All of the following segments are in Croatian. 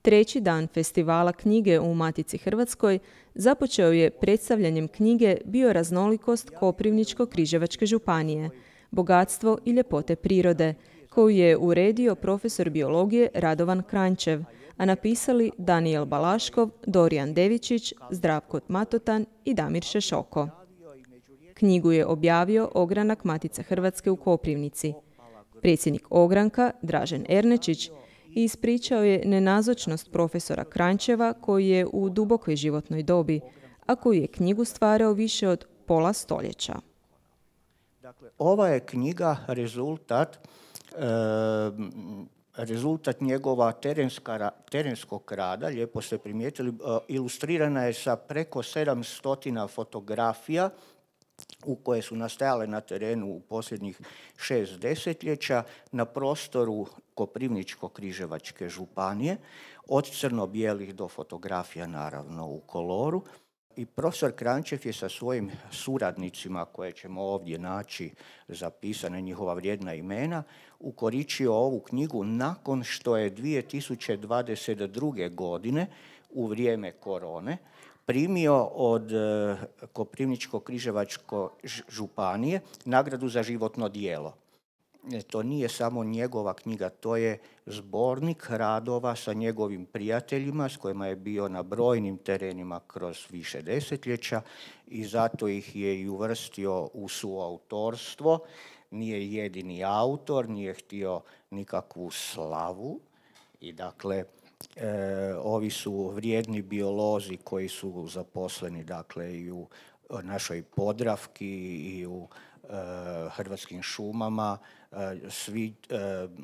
Treći dan festivala knjige u Matici Hrvatskoj započeo je predstavljanjem knjige Bioraznolikost Koprivničko-križevačke županije, bogatstvo i ljepote prirode, koju je uredio profesor biologije Radovan Kranjčev, a napisali Danijel Balaškov, Dorijan Devičić, Zdravko Matotan i Damir Šešoko. Knjigu je objavio Ogranak Matice Hrvatske u Koprivnici. Predsjednik Ogranka, Dražen Ernečić, ispričao je nenazočnost profesora Kranjčeva koji je u dubokoj životnoj dobi, a koji je knjigu stvarao više od pola stoljeća. Dakle, ova je knjiga rezultat njegova terenskog rada, lijepo ste primijetili, ilustrirana je sa preko 700 fotografija u koje su nastajale na terenu u posljednjih 6 desetljeća na prostoru Koprivničko-križevačke županije, od crno-bijelih do fotografija naravno u koloru. I profesor Kranjčev je sa svojim suradnicima, koje ćemo ovdje naći zapisane njihova vrijedna imena, ukoričio ovu knjigu nakon što je 2022. godine u vrijeme korone primio od Koprivničko-križevačke županije nagradu za životno djelo. To nije samo njegova knjiga, to je zbornik radova sa njegovim prijateljima s kojima je bio na brojnim terenima kroz više desetljeća i zato ih je i uvrstio u suautorstvo. Nije jedini autor, nije htio nikakvu slavu i dakle ovi su vrijedni biolozi koji su zaposleni dakle i u našoj Podravki i u Hrvatskim šumama, svi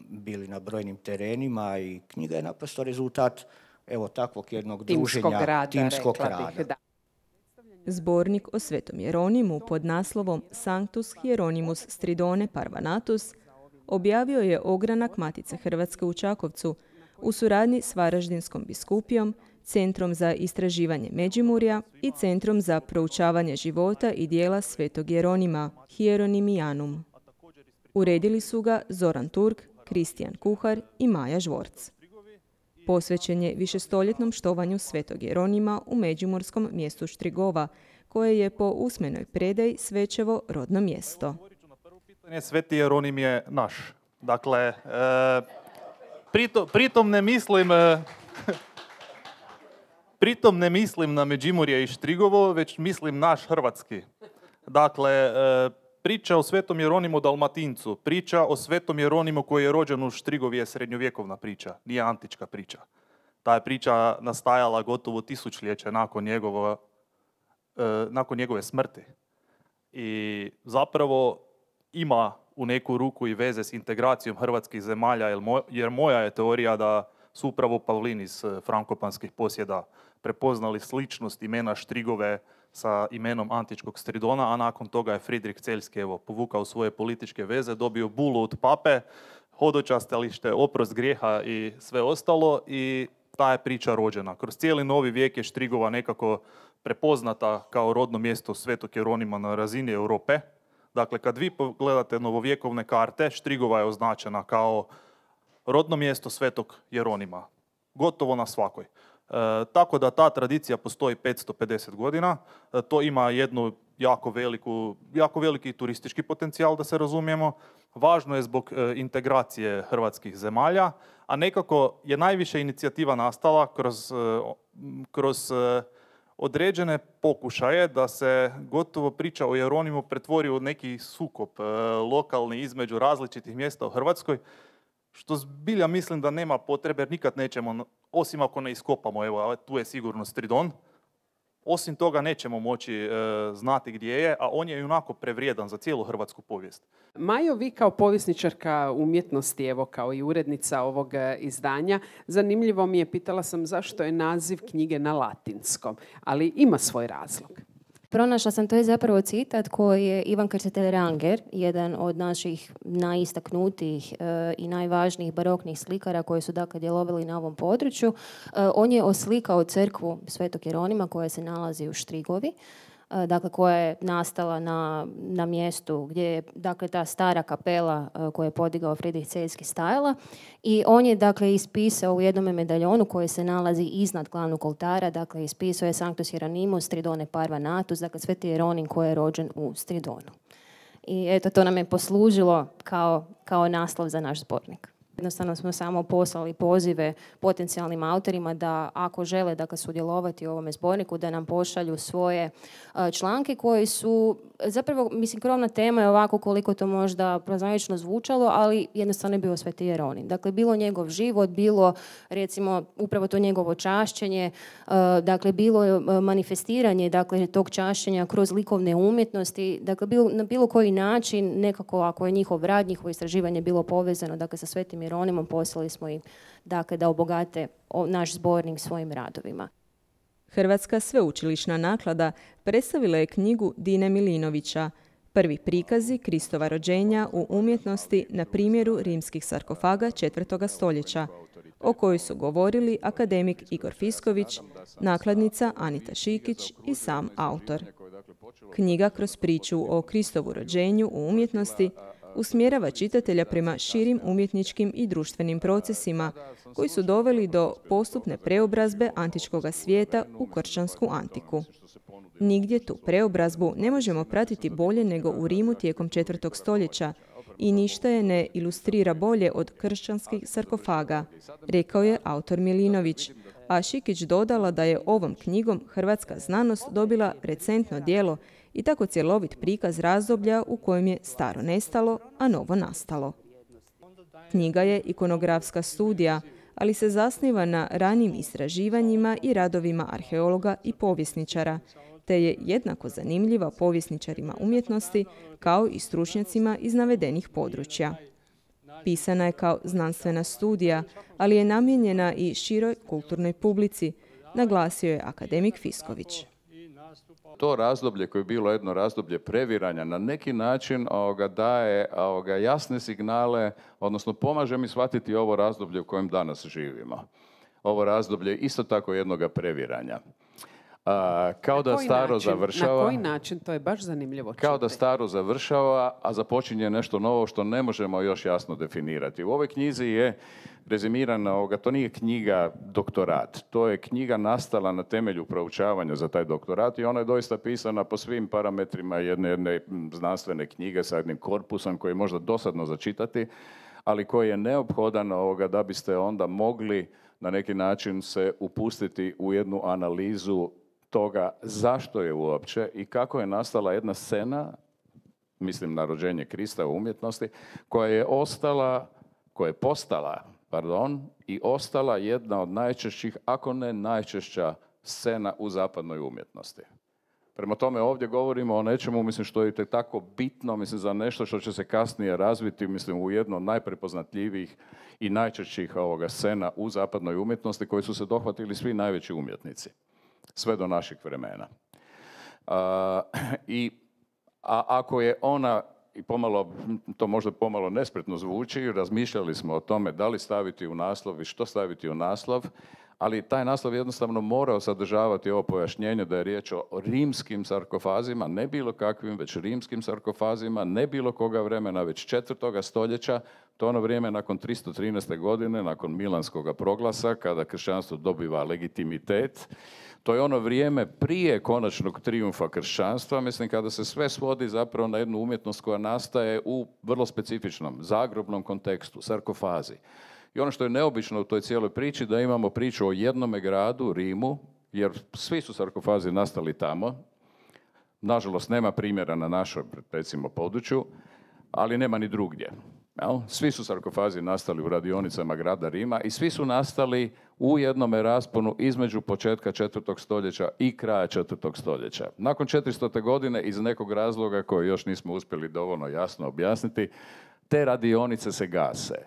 bili na brojnim terenima i knjiga je naprosto rezultat evo takvog jednog druženja, timskog rada. Zbornik o Svetom Jeronimu pod naslovom Sanctus Hieronymus Stridone Parvanatus objavio je Ogranak Matice Hrvatske u Čakovcu u suradnji s Varaždinskom biskupijom, Centrom za istraživanje Međimurja i Centrom za proučavanje života i djela Svetog Jeronima, Hieronimianum. Uredili su ga Zoran Turk, Kristijan Kuhar i Maja Žvorc. Posvećen je višestoljetnom štovanju Svetog Jeronima u međimurskom mjestu Štrigova, koje je po usmenoj predaji Svečevo rodno mjesto. Sveti Jeronim je naš. Dakle, pritom ne mislim na Međimurje i Štrigovo, već mislim naš hrvatski. Dakle, priča o Svetom Jeronimu Dalmatincu, priča o Svetom Jeronimu koji je rođen u Štrigovi je srednjovjekovna priča, nije antička priča. Ta je priča nastajala gotovo tisućljeće nakon njegove smrti. I zapravo ima u neku ruku i veze s integracijom hrvatskih zemalja, jer moja je teorija da su upravo Pavlini iz frankopanskih posjeda prepoznali sličnost imena Štrigove sa imenom antičkog Stridona, a nakon toga je Fridrik Celjski povukao svoje političke veze, dobio bulu od pape, hodočastilište, oprost grijeha i sve ostalo i ta je priča rođena. Kroz cijeli novi vijek je Štrigova nekako prepoznata kao rodno mjesto Svetog Jeronima na razini Europe. Dakle, kad vi pogledate novovjekovne karte, Štrigova je označena kao rodno mjesto Svetog Jeronima. Gotovo na svakoj. Tako da ta tradicija postoji 550 godina. To ima jednu jako veliki turistički potencijal, da se razumijemo. Važno je zbog integracije hrvatskih zemalja, a nekako je najviše inicijativa nastala kroz određene pokušaje da se gotovo priča o Jeronimu pretvori u neki sukob lokalni između različitih mjesta u Hrvatskoj, što zbilja mislim da nema potrebe, jer nikad nećemo, osim ako ne iskopamo, evo, tu je sigurno Stridon, osim toga nećemo moći znati gdje je, a on je i onako prevrijedan za cijelu hrvatsku povijest. Majo, vi kao povjesničarka umjetnosti, evo kao i urednica ovog izdanja, zanimljivo mi je, pitala sam zašto je naziv knjige na latinskom, ali ima svoj razlog. Pronašla sam, to je zapravo citat koji je Ivan Krstitelj Ranger, jedan od naših najistaknutijih i najvažnijih baroknih slikara koji su dakle djelovali na ovom području. On je oslikao crkvu Svetog Jeronima koja se nalazi u Štrigovi. dakle, koja je nastala na mjestu gdje je, dakle, ta stara kapela koju je podigao Friedrich Celjski stajala. I on je, dakle, ispisao u jednom medaljonu koji se nalazi iznad glavnog oltara, dakle, ispisao je Sanctus Hieronymus Stridone Parva Natus, dakle, Sveti Jeronim koji je rođen u Stridonu. I eto, to nam je poslužilo kao naslov za naš zbornik. Jednostavno smo samo poslali pozive potencijalnim autorima da ako žele, dakle, sudjelovati u ovome zborniku, da nam pošalju svoje članke koji su, zapravo, mislim, krovna tema je ovako koliko to možda prozaično zvučalo, ali jednostavno je bio Sveti Jeronim. Dakle, bilo njegov život, bilo, recimo, upravo to njegovo čašćenje, dakle, bilo manifestiranje, dakle, tog čašćenja kroz likovne umjetnosti, dakle, na bilo koji način, nekako, ako je njihov rad, njihovo istraživanje bilo povezano, dakle, sa Svetim Jeronimom, poslali smo im, dakle, da obogate naš zbornik svojim radovima. Hrvatska sveučilišna naklada predstavila je knjigu Dine Milinovića Prvi prikazi Kristova rođenja u umjetnosti na primjeru rimskih sarkofaga 4. stoljeća, o kojoj su govorili akademik Igor Fisković, nakladnica Anita Šikić i sam autor. Knjiga kroz priču o Kristovu rođenju u umjetnosti usmjerava čitatelja prema širim umjetničkim i društvenim procesima koji su doveli do postupne preobrazbe antičkog svijeta u kršćansku antiku. Nigdje tu preobrazbu ne možemo pratiti bolje nego u Rimu tijekom 4. stoljeća i ništa je ne ilustrira bolje od kršćanskih sarkofaga, rekao je autor Milinović, a Šikić dodala da je ovom knjigom hrvatska znanost dobila recentno djelo i tako cjelovit prikaz razdoblja u kojem je staro nestalo, a novo nastalo. Knjiga je ikonografska studija, ali se zasniva na ranijim istraživanjima i radovima arheologa i povjesničara, te je jednako zanimljiva povjesničarima umjetnosti kao i stručnjacima iz navedenih područja. Pisana je kao znanstvena studija, ali je namijenjena i široj kulturnoj publici, naglasio je akademik Fisković. To razdoblje koje je bilo jedno razdoblje previranja na neki način daje jasne signale, odnosno pomaže mi shvatiti ovo razdoblje u kojem danas živimo. Ovo razdoblje je isto tako jednoga previranja. Kao da staro završava. Na koji način? To je baš zanimljivo čuti. Kao da staro završava, a započinje nešto novo što ne možemo još jasno definirati. U ovoj knjizi je rezimirana, to nije knjiga doktorat, to je knjiga nastala na temelju proučavanja za taj doktorat i ona je doista pisana po svim parametrima jedne znanstvene knjige sa jednim korpusom koji je možda dosadno za čitati, ali koji je neophodan da biste onda mogli na neki način se upustiti u jednu analizu toga zašto je uopće i kako je nastala jedna scena, mislim na rođenje Krista u umjetnosti, koja je postala i ostala jedna od najčešćih, ako ne najčešća scena u zapadnoj umjetnosti. Prema tome ovdje govorimo o nečemu, mislim, što je tako bitno, mislim, za nešto što će se kasnije razviti, mislim, u jedno od najprepoznatljivijih i najčešćih scena u zapadnoj umjetnosti koji su se dohvatili svi najveći umjetnici, sve do naših vremena. A ako je ona, i to možda pomalo nespretno zvuči, razmišljali smo o tome da li staviti u naslov i što staviti u naslov, ali taj naslov jednostavno morao sadržavati ovo pojašnjenje da je riječ o rimskim sarkofazima, ne bilo kakvim, već rimskim sarkofazima, ne bilo koga vremena, već 4. stoljeća, to ono vrijeme nakon 313. godine, nakon Milanskog proglasa, kada kršćanstvo dobiva legitimitet. To je ono vrijeme prije konačnog trijumfa kršćanstva, mislim, kada se sve svodi zapravo na jednu umjetnost koja nastaje u vrlo specifičnom, zagrobnom kontekstu, sarkofazi. I ono što je neobično u toj cijeloj priči, da imamo priču o jednome gradu, Rimu, jer svi su sarkofazi nastali tamo. Nažalost, nema primjera na našoj, recimo, području, ali nema ni drugdje. Svi su sarkofazi nastali u radionicama grada Rima i svi su nastali u jednome rasponu između početka 4. stoljeća i kraja 4. stoljeća. Nakon 400. godine, iz nekog razloga koji još nismo uspjeli dovoljno jasno objasniti, te radionice se gase.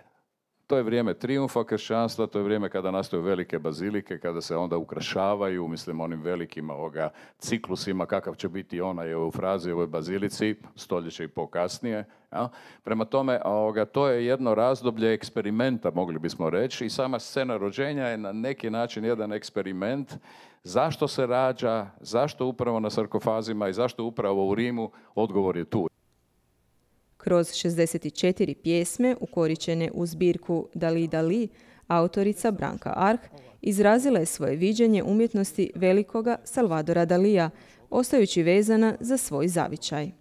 To je vrijeme trijumfa kršćanstva, to je vrijeme kada nastaju velike bazilike, kada se onda ukrašavaju, mislim, onim velikim ciklusima, kakav će biti onaj u frazi ovoj bazilici, stoljeće i po kasnije. Ja? Prema tome, to je jedno razdoblje eksperimenta, mogli bismo reći, i sama scena rođenja je na neki način jedan eksperiment. Zašto se rađa, zašto upravo na sarkofazima i zašto upravo u Rimu, odgovor je tu. Kroz 64 pjesme ukoričene u zbirku Dali Dali, autorica Branka Arh izrazila je svoje viđenje umjetnosti velikoga Salvadora Dalija, ostajući vezana za svoj zavičaj.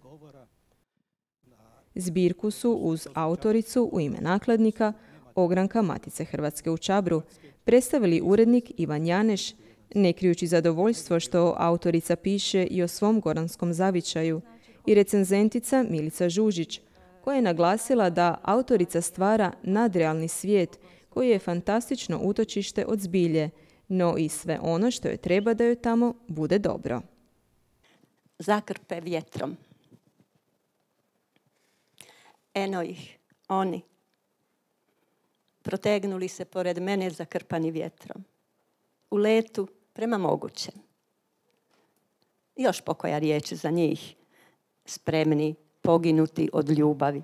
Zbirku su uz autoricu u ime nakladnika, ogranka Matice Hrvatske u Čabru, predstavili urednik Ivan Janeš, ne krijući zadovoljstvo što autorica piše i o svom goranskom zavičaju, i recenzentica Milica Žužić, koja je naglasila da autorica stvara nadrealni svijet koji je fantastično utočište od zbilje, no i sve ono što joj treba da joj tamo bude dobro. Zakrpe vjetrom. Eno ih, oni, protegnuli se pored mene zakrpani vjetrom. U letu prema mogućem. Još pokoja riječ za njih, spremni poginuti od ljubavi.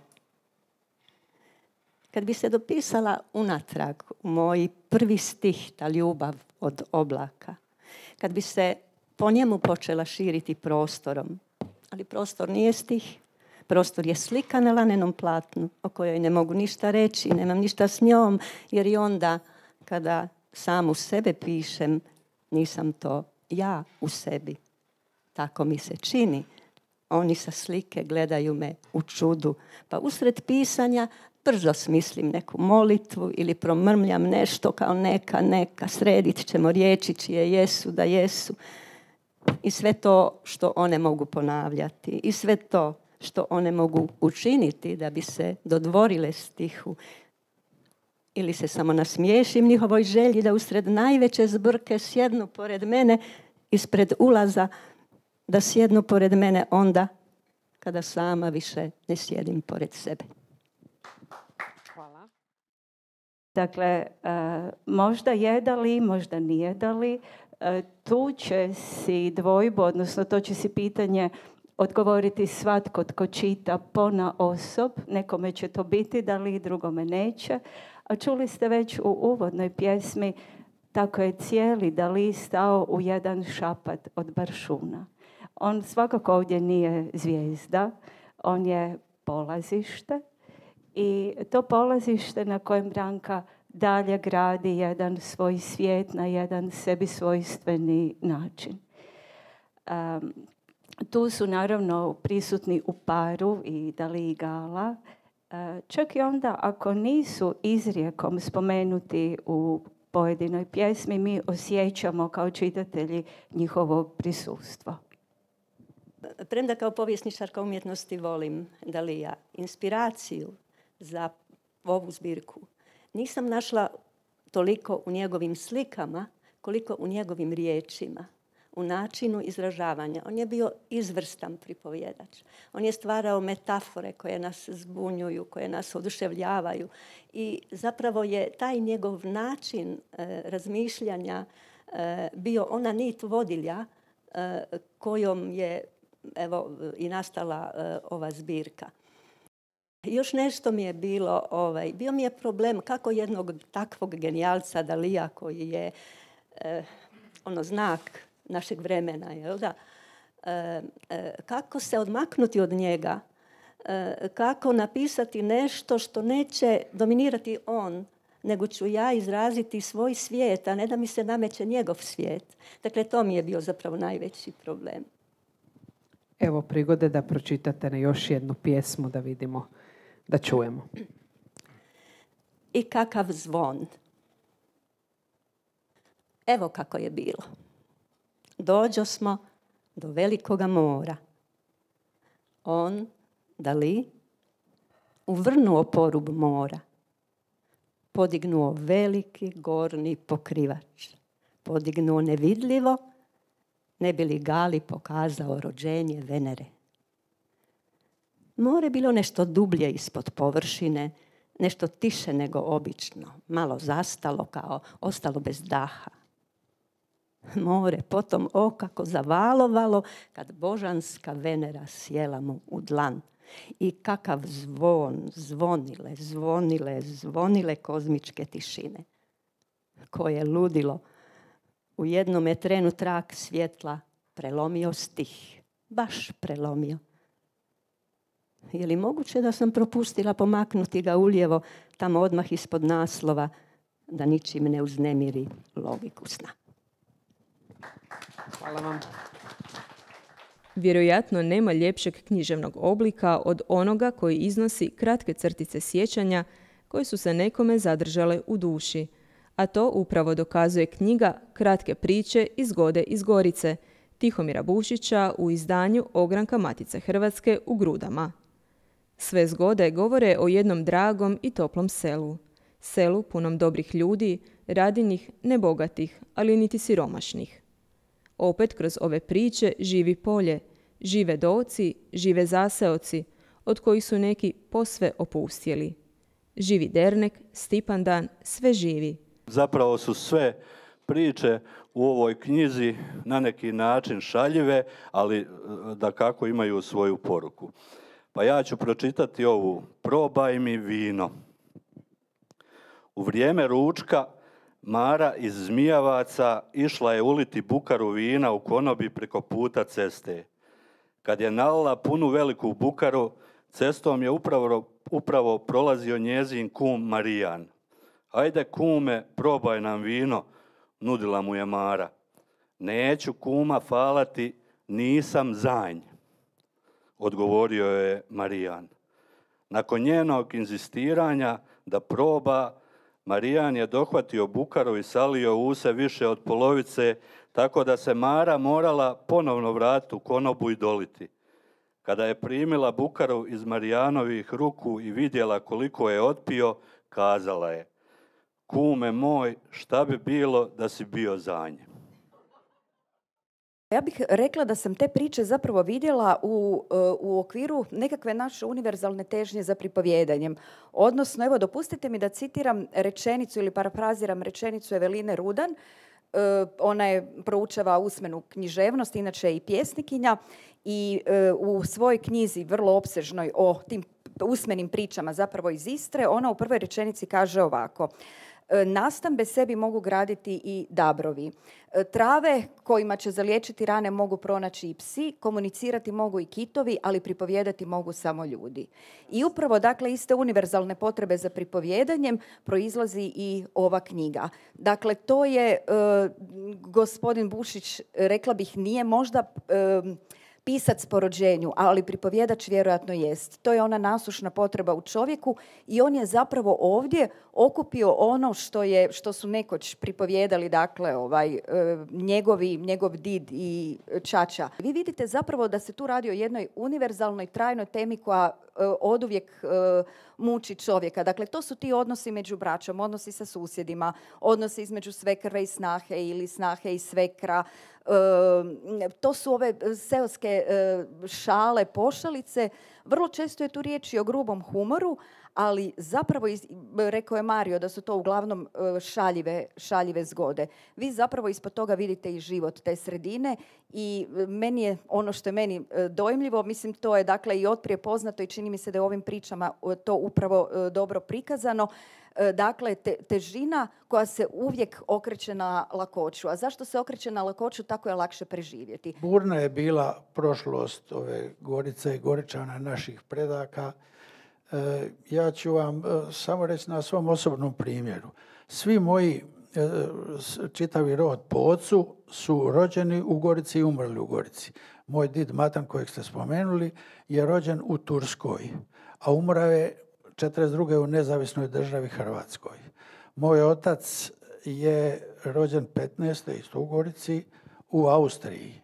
Kad bi se dopisala unatrag u moj prvi stih, ta ljubav od oblaka, kad bi se po njemu počela širiti prostorom, ali prostor nije stih, prostor je slika na lanenom platnu o kojoj ne mogu ništa reći, nemam ništa s njom, jer i onda kada sam u sebe pišem, nisam to ja u sebi. Tako mi se čini. Oni sa slike gledaju me u čudu, pa usred pisanja brzo smislim neku molitvu ili promrmljam nešto kao neka, sredit ćemo riječi čije jesu da jesu. I sve to što one mogu ponavljati, i sve to što one mogu učiniti da bi se dodvorile stihu. Ili se samo nasmiješim njihovoj želji da usred najveće zbrke sjednu pored mene ispred ulaza, da sjednu pored mene onda kada sama više ne sjedim pored sebe. Hvala. Dakle, možda je Dali, možda nije Dali. Tu će si dvojbu, odnosno to će si pitanje odgovoriti svatko tko čita ponaosob. Nekome će to biti Dali, drugome neće. A čuli ste već u uvodnoj pjesmi, tako je cijeli Dali stao u jedan šapat od baršuna. On svakako ovdje nije zvijezda, on je polazište i to polazište na kojem Branka dalje gradi jedan svoj svijet na jedan sebi svojstveni način. Tu su naravno prisutni u paru i Dali i Gala, čak i onda ako nisu izrijekom spomenuti u pojedinoj pjesmi, mi osjećamo kao čitatelji njihovo prisustvo. Premda kao povjesničarka umjetnosti volim Dalija, inspiraciju za ovu zbirku nisam našla toliko u njegovim slikama koliko u njegovim riječima, u načinu izražavanja. On je bio izvrstan pripovjedač. On je stvarao metafore koje nas zbunjuju, koje nas oduševljavaju i zapravo je taj njegov način razmišljanja bio ona nit vodilja kojom je i nastala ova zbirka. Još nešto mi je bilo, bio mi je problem kako jednog takvog genijalca Dalija koji je znak našeg vremena, jel da? Kako se odmaknuti od njega, kako napisati nešto što neće dominirati on, nego ću ja izraziti svoj svijet, a ne da mi se nameće njegov svijet. Dakle, to mi je bio zapravo najveći problem. Evo prigode da pročitate na još jednu pjesmu da vidimo, da čujemo. I kakav zvon. Evo kako je bilo. Dođo smo do velikoga mora. On, Dali, uvrnuo porub mora. Podignuo veliki gornji pokrivač. Podignuo nevidljivo, ne bi li Gali pokazao rođenje Venere. More bilo nešto dublje ispod površine, nešto tiše nego obično, malo zastalo, kao ostalo bez daha. More potom kako zavalovalo kad božanska Venera sjela mu u dlan. I kakav zvon, zvonile kozmičke tišine. Koje ludilo u jednom trenu trak svjetla prelomio stih. Baš prelomio. Je li moguće da sam propustila pomaknuti ga ulijevo, tamo odmah ispod naslova, da ničim ne uznemiri logiku sna? Hvala vam. Vjerojatno nema ljepšeg književnog oblika od onoga koji iznosi kratke crtice sjećanja koje su se nekome zadržale u duši, a to upravo dokazuje knjiga Kratke priče iz Zgode iz Gorice, Tihomira Bušića u izdanju Ogranka Matice Hrvatske u Grudama. Sve zgode govore o jednom dragom i toplom selu. Selu punom dobrih ljudi, radinih, nebogatih, ali niti siromašnih. Opet kroz ove priče živi polje, žive doci, žive zaseoci, od kojih su neki posve opustjeli. Živi dernek, Stipandan, sve živi. Zapravo su sve priče u ovoj knjizi na neki način šaljive, ali dakako imaju svoju poruku. Pa ja ću pročitati ovu. Probaj mi vino. U vrijeme ručka Mara iz Zmijavaca išla je uliti bukaru vina u konobi preko puta ceste. Kad je nalila punu veliku bukaru, cestom je upravo prolazio njezin kum Marijan. Ajde kume, probaj nam vino, nudila mu je Mara. Neću kuma falati, nisam zanj, odgovorio je Marijan. Nakon njenog inzistiranja da proba, Marijan je dohvatio bukaru i salio u se više od polovice, tako da se Mara morala ponovno vratiti u konobu i doliti. Kada je primila bukaru iz Marijanovih ruku i vidjela koliko je otpio, kazala je: kume moj, šta bi bilo da si bio za nje? Ja bih rekla da sam te priče zapravo vidjela u okviru nekakve naše univerzalne težnje za pripovjedanjem. Odnosno, evo, dopustite mi da citiram rečenicu ili parafraziram rečenicu Eveline Rudan. Ona je proučava usmenu književnost, inače i pjesnikinja, i u svojoj knjizi vrlo opsežnoj o tim usmenim pričama zapravo iz Istre, ona u prvoj rečenici kaže ovako: nastambe sebi mogu graditi i dabrovi. Trave kojima će zaliječiti rane mogu pronaći i psi, komunicirati mogu i kitovi, ali pripovijedati mogu samo ljudi. I upravo, dakle, iste univerzalne potrebe za pripovjedanjem proizlazi i ova knjiga. Dakle, to je, gospodin Bušić, rekla bih, nije možda pisac po rođenju, ali pripovjedač vjerojatno jest. To je ona nasušna potreba u čovjeku i on je zapravo ovdje okupio ono što su nekoć pripovjedali, dakle, njegov did i čača. Vi vidite zapravo da se tu radi o jednoj univerzalnoj, trajnoj temi koja oduvijek muči čovjeka. Dakle, to su ti odnosi među braćom, odnosi sa susjedima, odnosi između svekrve i snahe ili snahe i svekra. To su ove seoske šale, pošalice. Vrlo često je tu riječ i o grubom humoru, ali zapravo, rekao je Mario, da su to uglavnom šaljive zgode. Vi zapravo ispod toga vidite i život te sredine i meni je ono što je meni dojmljivo, mislim, to je, dakle, i otprije poznato i čini mi se da je u ovim pričama to upravo dobro prikazano. Dakle, težina koja se uvijek okreće na lakoću. A zašto se okreće na lakoću? Tako je lakše preživjeti. Burna je bila prošlost ove Gorice i Goričana, naših predaka. Ja ću vam samo reći na svom osobnom primjeru. Svi moji čitavi rod po ocu su rođeni u Gorici i umrli u Gorici. Moj did Matan, kojeg ste spomenuli, je rođen u Turskoj, a umrao je 1942. u nezavisnoj državi Hrvatskoj. Moj otac je rođen 15. isto u Gorici u Austriji,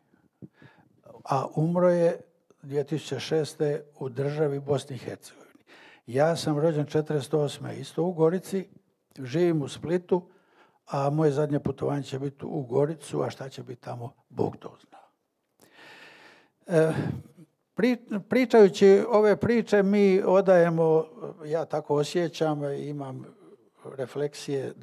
a umro je 2006. u državi Bosni i Hercegovini. Ja sam rođen 1948. isto u Gorici, živim u Splitu, a moje zadnje putovanje će biti u Goricu, a šta će biti tamo, Bog to zna. Pričajući ove priče mi odajemo, ja tako osjećam, imam refleksije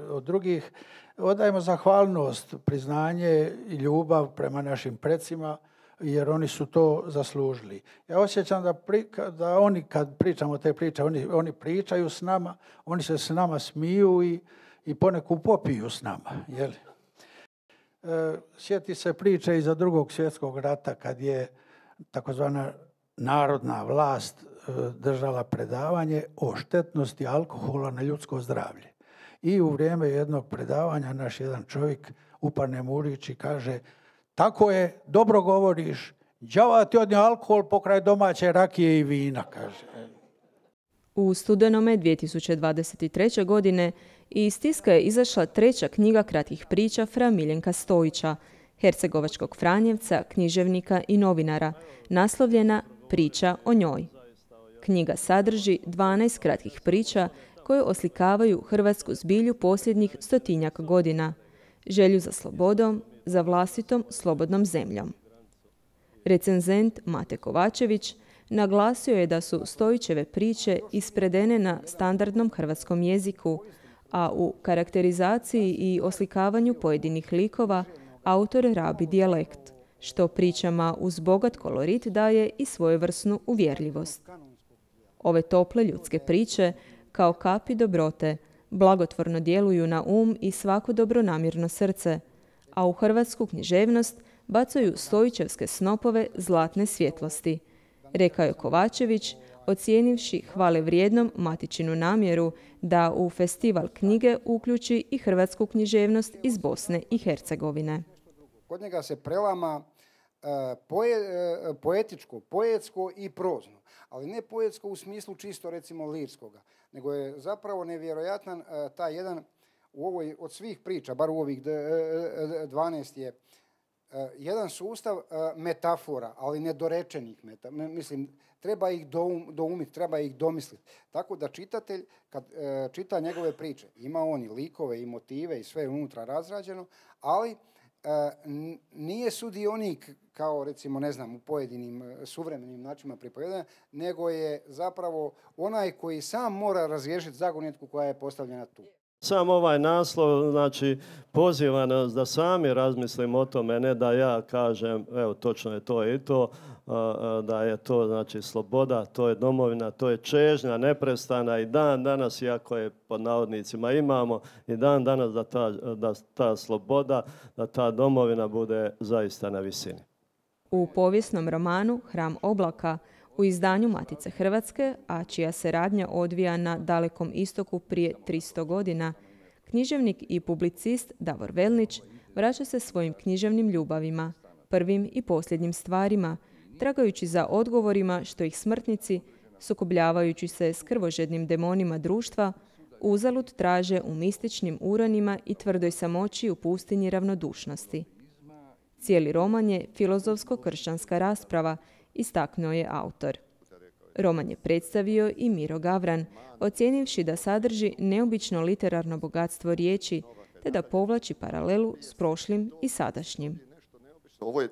od drugih, odajemo zahvalnost, priznanje i ljubav prema našim precima, jer oni su to zaslužili. Ja osjećam da oni kad pričamo te priče, oni pričaju s nama, oni se s nama smiju i poneku popiju s nama. Jeli? Sjeti se priče iza Drugog svjetskog rata kad je takozvana narodna vlast držala predavanje o štetnosti alkohola na ljudsko zdravlje. I u vrijeme jednog predavanja naš jedan čovjek upadne mu u riječ i kaže: tako je, dobro govoriš, đava ti odnio alkohol pokraj domaće rakije i vina, kaže. U studenome 2023. godine iz tiska je izašla 3. knjiga kratkih priča fra Miljenka Stojića, hercegovačkog Franjevca, književnika i novinara, naslovljena Priča o njoj. Knjiga sadrži 12 kratkih priča koje oslikavaju hrvatsku zbilju posljednjih 100-tinjak godina, želju za slobodom, za vlastitom slobodnom zemljom. Recenzent Mate Kovačević naglasio je da su Stojićeve priče ispredene na standardnom hrvatskom jeziku, a u karakterizaciji i oslikavanju pojedinih likova autor rabi dijalekt, što pričama uz bogat kolorit daje i svojevrsnu uvjerljivost. Ove tople ljudske priče, kao kapi dobrote, blagotvorno djeluju na i svako dobronamjerno srce, a u hrvatsku književnost bacaju Stojićevske snopove zlatne svjetlosti, rekao je Kovačević, ocijenivši hvale vrijednom Matičinu namjeru da u festival knjige uključi i hrvatsku književnost iz Bosne i Hercegovine. Kod njega se prelama poetičko, poetsko i prozno, ali ne poetsko u smislu čisto recimo lirskoga, nego je zapravo nevjerojatan taj jedan u ovoj od svih priča, bar u ovih 12 je jedan sustav metafora, ali nedorečenih mislim, treba ih doumiti, treba ih domisliti. Tako da čitatelj, kad čita njegove priče, ima on i likove i motive i sve unutra razrađeno, ali nije sudionik kao recimo, ne znam, u pojedinim suvremenim načinima pripovijedanja, nego je zapravo onaj koji sam mora razriješiti zagonetku koja je postavljena tu. Sam ovaj naslov, znači, poziva nas da sami razmislimo o tome, ne da ja kažem, evo, točno je to i to, da je to, znači, sloboda, to je domovina, to je čežnja neprestana i dan danas, iako je pod navodnicima imamo, i dan danas da ta sloboda, da ta domovina bude zaista na visini. U povijesnom romanu Hram oblaka, u izdanju Matice Hrvatske, a čija se radnja odvija na Dalekom istoku prije 300 godina, književnik i publicist Davor Velnić vraća se svojim književnim ljubavima, prvim i posljednjim stvarima, tragajući za odgovorima što ih smrtnici, sukobljavajući se s krvožednim demonima društva, uzalud traže u mističnim uranima i tvrdoj samoći u pustinji ravnodušnosti. Cijeli roman je filozofsko-kršćanska rasprava, istaknuo je autor. Roman je predstavio i Miro Gavran, ocijenivši da sadrži neobično literarno bogatstvo riječi, te da povlači paralelu s prošlim i sadašnjim. Ovo je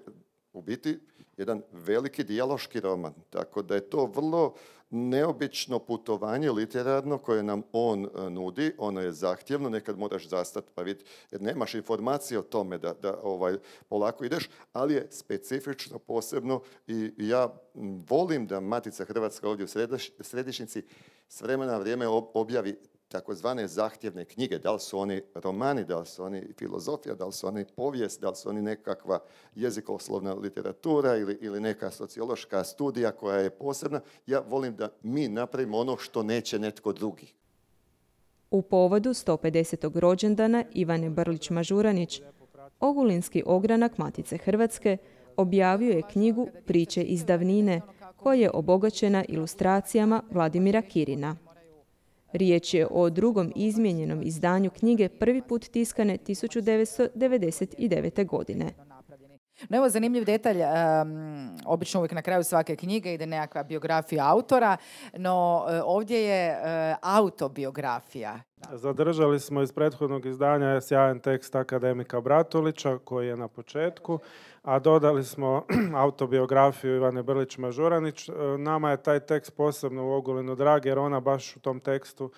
u biti jedan veliki dijaloški roman, tako da je to vrlo neobično putovanje literarno koje nam on nudi. Ono je zahtjevno, nekad moraš zastati pa vidjeti, jer nemaš informacije o tome da polako ideš, ali je specifično, posebno i ja volim da Matica Hrvatska ovdje u središnjici s vremena na vrijeme objavi takozvane zahtjevne knjige, da li su oni romani, da li su oni filozofija, da li su oni povijest, da li su oni nekakva jezikoslovna literatura ili neka sociološka studija koja je posebna. Ja volim da mi napravimo ono što neće netko drugi. U povodu 150. rođendana Ivane Brlić-Mažuranić, Ogulinski ogranak Matice Hrvatske objavio je knjigu Priče iz davnine, koja je obogaćena ilustracijama Vladimira Kirina. Riječ je o drugom izmijenjenom izdanju knjige, prvi put tiskane 1999. godine. No evo zanimljiv detalj, obično uvijek na kraju svake knjige ide nekakva biografija autora, no ovdje je autobiografija. Zadržali smo iz prethodnog izdanja sjajan tekst akademika Bratulića koji je na početku, a dodali smo autobiografiju Ivane Brlić-Mažuranić. Nama je taj tekst posebno u Ogulinu drag jer ona baš u tom tekstu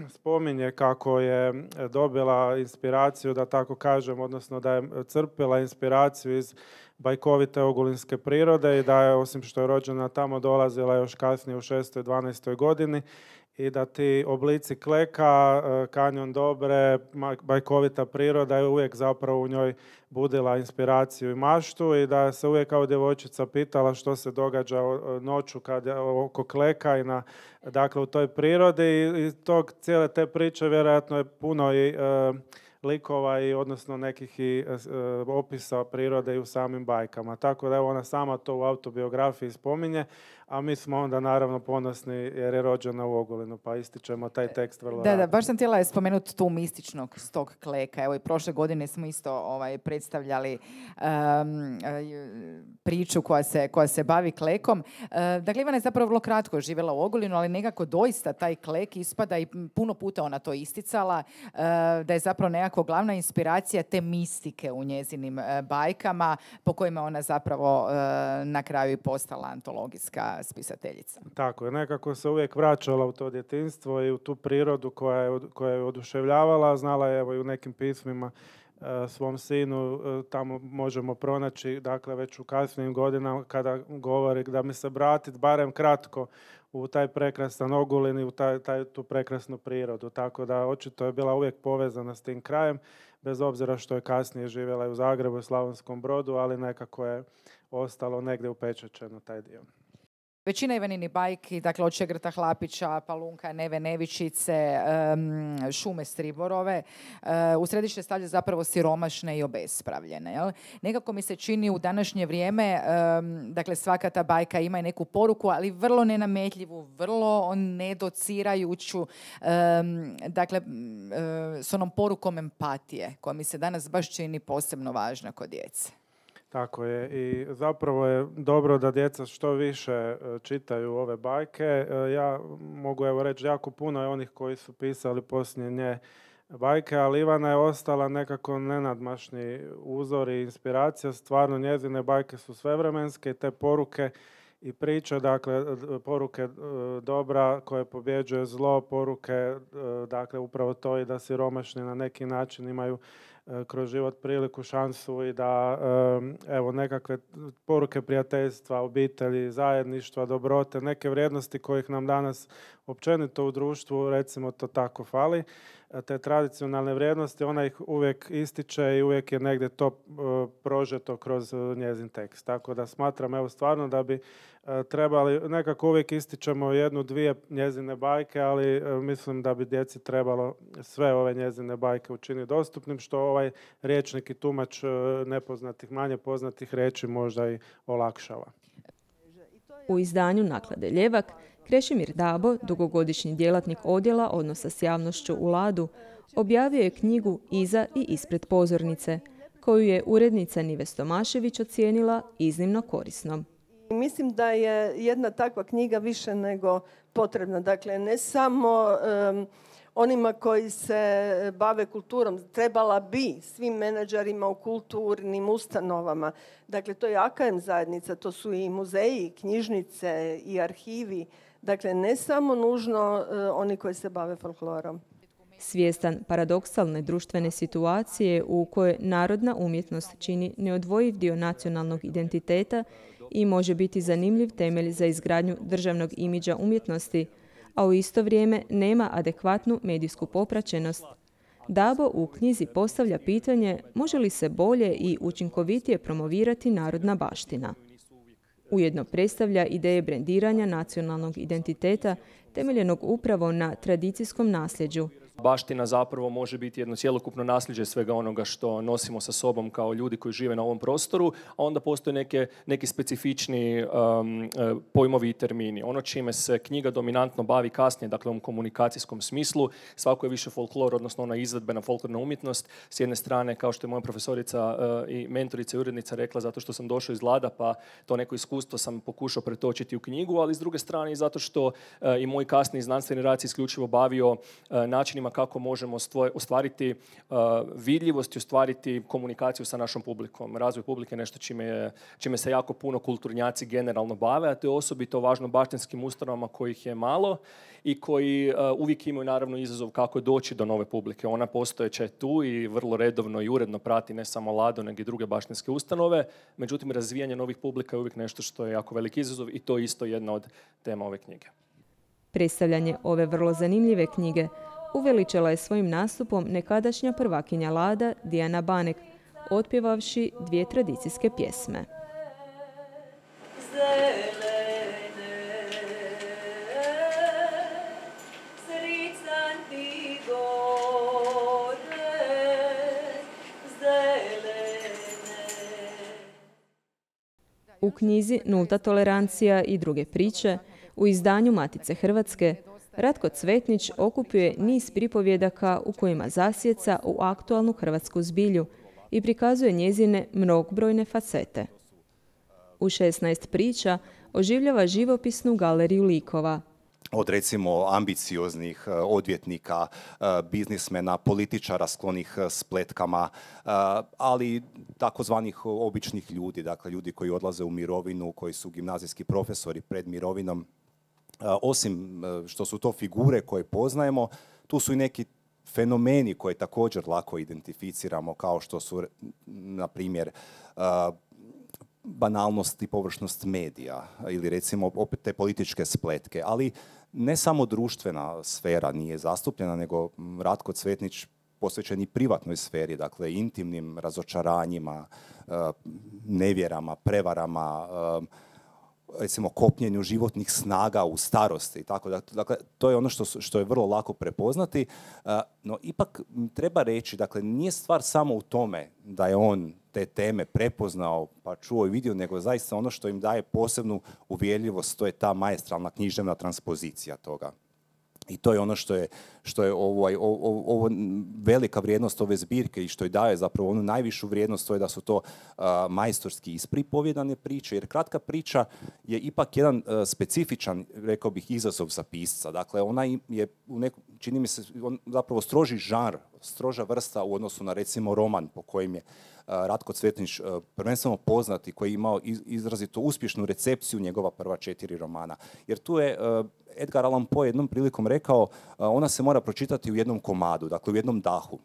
spominje kako je dobila inspiraciju, da tako kažem, odnosno da je crpila inspiraciju iz bajkovite ogulinske prirode i da je, osim što je rođena tamo, dolazila još kasnije u 6. i 12. godini i da ti oblici kleka, kanjon Dobre, bajkovita priroda je uvijek zapravo u njoj budila inspiraciju i maštu i da se uvijek kao djevojčica pitala što se događa noću oko kleka i dakle u toj prirodi i tog cijele te priče vjerojatno je puno i likova i odnosno nekih i opisa prirode i u samim bajkama. Tako da evo ona sama to u autobiografiji spominje, a mi smo onda naravno ponosni jer je rođena u Ogulinu, pa ističemo taj tekst vrlo rado. Da, baš sam htjela spomenuti tu mističnog tog kleka. Evo i prošle godine smo isto predstavljali priču koja se bavi klekom. Dakle, Ivana je zapravo vrlo kratko živjela u Ogulinu, ali nekako doista taj klek ispada i puno puta ona to isticala, da je zapravo nekako glavna inspiracija te mistike u njezinim bajkama, po kojima ona zapravo na kraju i postala antologijska spisateljica. Tako je, nekako se uvijek vraćala u to djetinjstvo i u tu prirodu koja je oduševljavala. Znala je evo i u nekim pismima svom sinu, tamo možemo pronaći, dakle već u kasnijim godinama kada govori da mi se vratiti barem kratko u taj prekrasan Ogulin i u tu prekrasnu prirodu. Tako da očito je bila uvijek povezana s tim krajem, bez obzira što je kasnije živjela i u Zagrebu i Slavonskom Brodu, ali nekako je ostalo negdje upečačeno taj dio. Većina Ivanini bajki, dakle od Šegrta Hlapića, Palunka, Neve Nevičice, Šume Striborove, u središte stavlja zapravo siromašne i obespravljene. Jel? Nekako mi se čini u današnje vrijeme, dakle svaka ta bajka ima i neku poruku, ali vrlo nenametljivu, vrlo nedocirajuću, dakle s onom porukom empatije, koja mi se danas baš čini posebno važna kod djece. Tako je i zapravo je dobro da djeca što više čitaju ove bajke. Ja mogu evo reći jako puno je onih koji su pisali poslije nje bajke, ali Ivana je ostala nekako nenadmašni uzor i inspiracija. Stvarno njezine bajke su svevremenske i te poruke i priče, dakle poruke dobra koje pobjeđuje zlo, poruke dakle upravo to i da siromašni na neki način imaju kroz život priliku, šansu i da evo nekakve poruke prijateljstva, obitelji, zajedništva, dobrote, neke vrijednosti kojih nam danas općenito u društvu, recimo to tako, fali. Te tradicionalne vrijednosti, ona ih uvijek ističe i uvijek je negdje to prožeto kroz njezin tekst. Tako da smatram evo stvarno da bi trebali, nekako uvijek ističemo jednu, dvije njezine bajke, ali mislim da bi djeci trebalo sve ove njezine bajke učiniti dostupnim, što ovaj rječnik i tumač nepoznatih, manje poznatih riječi možda i olakšava. U izdanju Naklade Ljevak Krešimir Dabo, dugogodišnji djelatnik odjela odnosa s javnošću u Ladu, objavio je knjigu Iza i ispred pozornice, koju je urednica Nives Tomašević ocijenila iznimno korisnom. Mislim da je jedna takva knjiga više nego potrebna. Dakle, ne samo onima koji se bave kulturom, trebala bi svim menadžerima u kulturnim ustanovama. Dakle, to je AKM zajednica, to su i muzeji, i knjižnice, i arhivi. Dakle, ne samo nužno oni koji se bave folklorom. Svjestan paradoksalne društvene situacije u kojoj narodna umjetnost čini neodvojiv dio nacionalnog identiteta i može biti zanimljiv temelj za izgradnju državnog imidža umjetnosti, a u isto vrijeme nema adekvatnu medijsku popraćenost, Dabo u knjizi postavlja pitanje može li se bolje i učinkovitije promovirati narodna baština. Ujedno predstavlja ideje brendiranja nacionalnog identiteta temeljenog upravo na tradicijskom nasljeđu, Baština zapravo može biti jedno cjelokupno nasljeđe svega onoga što nosimo sa sobom kao ljudi koji žive na ovom prostoru, a onda postoje neki specifični pojmovi i termini. Ono čime se knjiga dominantno bavi kasnije, dakle u ovom komunikacijskom smislu, svako je više folklor, odnosno ona izvedbena folklorna umjetnost. S jedne strane, kao što je moja profesorica i mentorica i urednica rekla, zato što sam došao iz Lada, pa to neko iskustvo sam pokušao pretočiti u knjigu, ali s druge strane i zato što i moj kasniji znanstveni rad se isključivo bavio načinima kako možemo ostvariti vidljivost i ostvariti komunikaciju sa našom publikom. Razvoj publike je nešto čime se jako puno kulturnjaci generalno bave, a to je osobito važno baštinskim ustanovama kojih je malo i koji uvijek imaju naravno izazov kako doći do nove publike. Ona postojeća je tu i vrlo redovno i uredno prati ne samo Lado, nego i druge baštinske ustanove. Međutim, razvijanje novih publika je uvijek nešto što je jako veliki izazov i to je isto jedna od tema ove knjige. Predstavljanje ove vrlo zanimljive knjige uveličala je svojim nastupom nekadašnja prvakinja Lada Dijana Banek, otpjevavši 2 tradicijske pjesme. U knjizi Nulta tolerancija i druge priče u izdanju Matice Hrvatske Ratko Cvetnić okupio je niz pripovjedaka u kojima zasjeca u aktualnu hrvatsku zbilju i prikazuje njezine mnogobrojne facete. U 16 priča oživljava živopisnu galeriju likova. Od recimo ambicioznih odvjetnika, biznismena, političara sklonih spletkama, ali takozvanih običnih ljudi, dakle ljudi koji odlaze u mirovinu, koji su gimnazijski profesori pred mirovinom. Osim što su to figure koje poznajemo, tu su i neki fenomeni koje također lako identificiramo, kao što su, na primjer, banalnost i površnost medija ili recimo opet te političke spletke, ali ne samo društvena sfera nije zastupljena, nego Ratko Cvetnić posvećen i privatnoj sferi, dakle intimnim razočaranjima, nevjerama, prevarama, recimo kopljenju životnih snaga u starosti. Tako da, dakle, to je ono što je vrlo lako prepoznati, no ipak treba reći, dakle, nije stvar samo u tome da je on te teme prepoznao, pa čuo i vidio, nego zaista ono što im daje posebnu uvjerljivost, to je ta maestralna književna transpozicija toga. I to je ono što je ovo velika vrijednost ove zbirke i što je daje zapravo onu najvišu vrijednost, to je da su to majstorski ispripovjedane priče, jer kratka priča je ipak jedan specifičan, rekao bih, izazov za pisca. Dakle, ona je, čini mi se, zapravo stroži žanr, stroža vrsta u odnosu na recimo roman po kojim je Ratko Cvetnić prvenstveno poznat i koji je imao izrazito uspješnu recepciju njegova prva 4 romana. Jer tu je Edgar Allan Poe jednom prilikom rekao, ona se mora pročitati u jednom komadu, dakle u jednom dahu.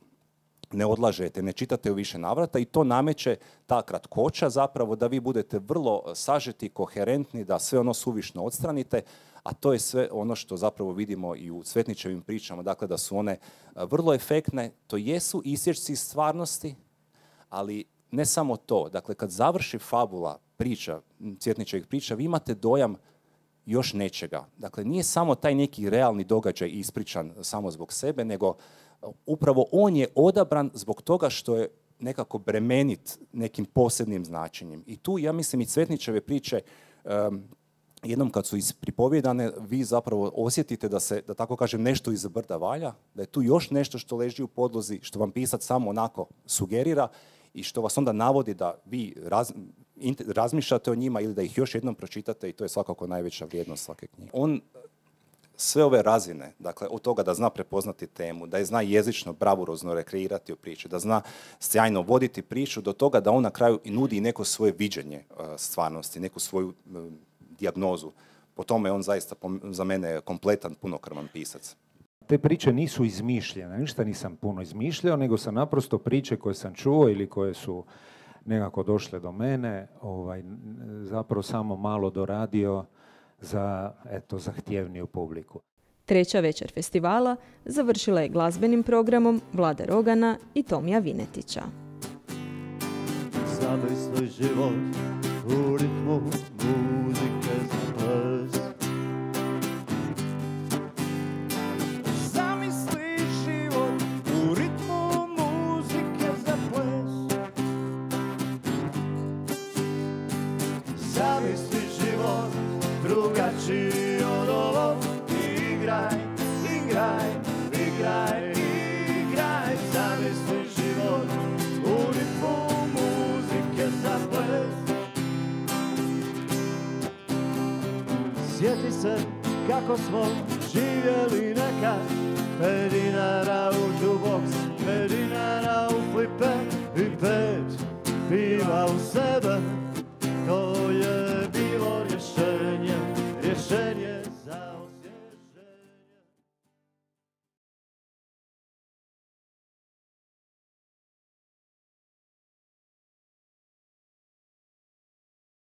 Ne odlažete, ne čitate u više navrata i to nameće ta kratkoća zapravo da vi budete vrlo sažeti, koherentni, da sve ono suvišno odstranite, a to je sve ono što zapravo vidimo i u Cvetnićevim pričama, dakle da su one vrlo efektne, to jesu isječci stvarnosti, ali ne samo to. Dakle, kad završi fabula priča, Cvetnićevih priča, vi imate dojam još nečega. Dakle, nije samo taj neki realni događaj ispričan samo zbog sebe, nego upravo on je odabran zbog toga što je nekako bremenit nekim posebnim značenjem. I tu, ja mislim, i Cvetnićeve priče, jednom kad su ispripovjedane, vi zapravo osjetite da se, da tako kažem, nešto iz brda valja, da je tu još nešto što leži u podlozi, što vam pisac samo onako sugerira i što vas onda navodi da vi razmišljate o njima ili da ih još jednom pročitate, i to je svakako najveća vrijednost svake knjige. On sve ove razine, dakle od toga da zna prepoznati temu, da je zna jezično, bravurozno rekreirati u priči, da zna sjajno voditi priču, do toga da on na kraju i nudi neko svoje viđenje stvarnosti, neku svoju dijagnozu. Po tome on zaista za mene kompletan, punokrvan pisac. Te priče nisu izmišljene, ništa nisam puno izmišljao, nego sam naprosto priče koje sam čuo ili koje su nekako došle do mene, zapravo samo malo doradio za, zahtjevniju publiku. Treća večer festivala završila je glazbenim programom Vlade Rogana i Tomija Vinetića. Zamisli život u ritmu muzike za ples. Zamisli život Sjeti se kako smo živjeli nekad, 5 dinara u jukebox, 5 dinara u flipe,